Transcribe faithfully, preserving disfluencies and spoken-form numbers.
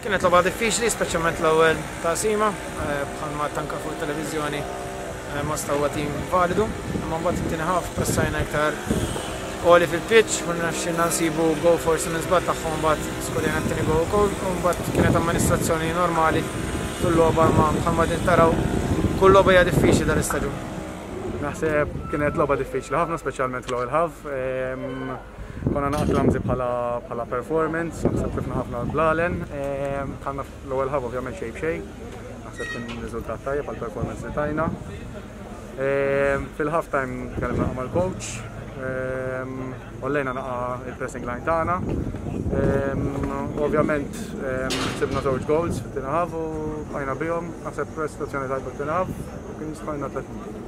Kienet logħba diffiċli, speċjalment l-ewwel taqsima, bħalma anka fuq televiżjoni Mosta huwa tim validu, imma mbagħad it-tieni half pressajna iktar għoli fil-pitch, u rnexxielna nsibu goal forsi minn żball tagħhom, mbagħad skorjajna t-tieni goal ukoll, u mbagħad kienet amministrazzjoni normali tul logħba, ma bħalma din taraw, kull logħba hija diffiċli dal-istaġun. Naħseb kienet logħba diffiċli ħafna, speċjalment l-ewwel half. Konna naqra clumsy bħala bħala performance, naħseb tlifna ħafna blalen. Bħalna l-ewwel half ovvjament xejn b'xejn. Naħseb kien riżultat tajjeb għal performance li tajna. Fil-half time tkellimna mal-coach, għollejna naqra il-pressing line tagħna. Ovvjament sibna żewġ goals fit-tieni half u bqajna bihom, naħseb prestazzjoni tajba fit-tieni half u kien jistħoqqilna tliet punti.